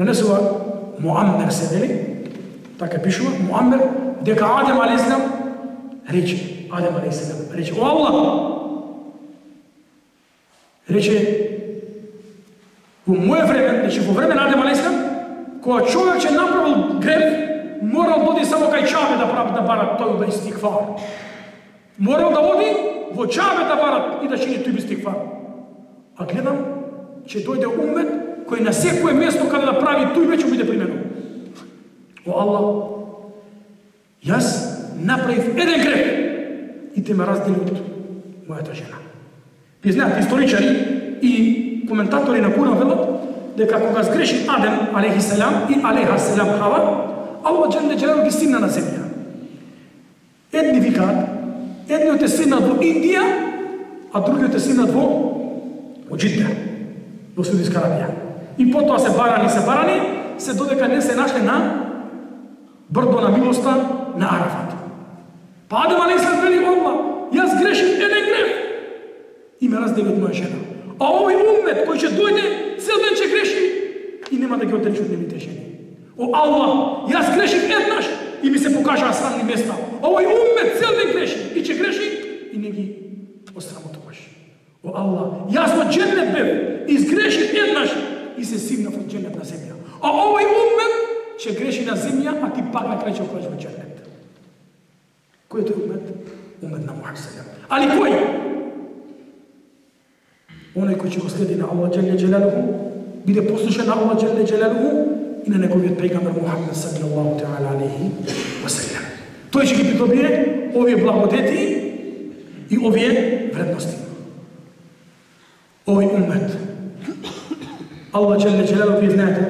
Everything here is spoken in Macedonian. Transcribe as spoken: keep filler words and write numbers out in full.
пренесува Муаммер се вели, така пишува, Муаммер, дека Адем алейхиссалам рече, Адем алейхиссалам рече, о Аллах, рече, во моје време, значи во време на Адем алейхиссалам, кога човек ќе направил греф, морал да оди само кај Чабе да прави да барат тој да истигфар. Морал да оди во Чабе да барат и да чини тој истигфар. А гледам, ќе дојде умет кој на секое место каде да прави тој веќе биде применуван. О Аллах, јас направив еден греф и те ме раздели од мојата жена. Ви знаете, историчари и коментатори на Куран велат дека кога сгреши Адем алейхиссалам и алейхиссалам Хава, Аллах џеле џелалу ги стигна на земја. Едни викаат, едниот е стигнат во Индија, а другиот е стигнат во во Џидда, во Саудитска Арабија. И потоа се барани, се барани, се додека не се нашле на брдо на милоста на Арафат. Па Адем алейхиссалам вели, Аллах, јас грешив еден греф и ме раздели од моја жена. А овој уммет кој ќе дојде, цел ден ќе греши и нема да ги отречи од нивните жени. О Аллах, јас грешив еднаш и ми се покажаа срамни места. Овој уммет цел ден греши и ќе греши и не ги осрамотуваш. О Аллах, јас во џеннет бев, изгрешив еднаш и се сигнав од џеннет на земја. А овој уммет ќе греши на земја, а ти пак на крај ќе отидеш во џеннет. Кој е тој уммет? Уммет на Мухамед селем. Али кој? Оној кој ќе го следи на Аллах џеле џелалуху, биде послушен на Аллах џеле џелалуху и на неговиот пејгамбер Мухамед саллаллаху теала алейхи ва селем. Тој ќе ги придобие овие благодети и овие вредности. Овој уммет. Аллах џеле џелалуху, вие знаете,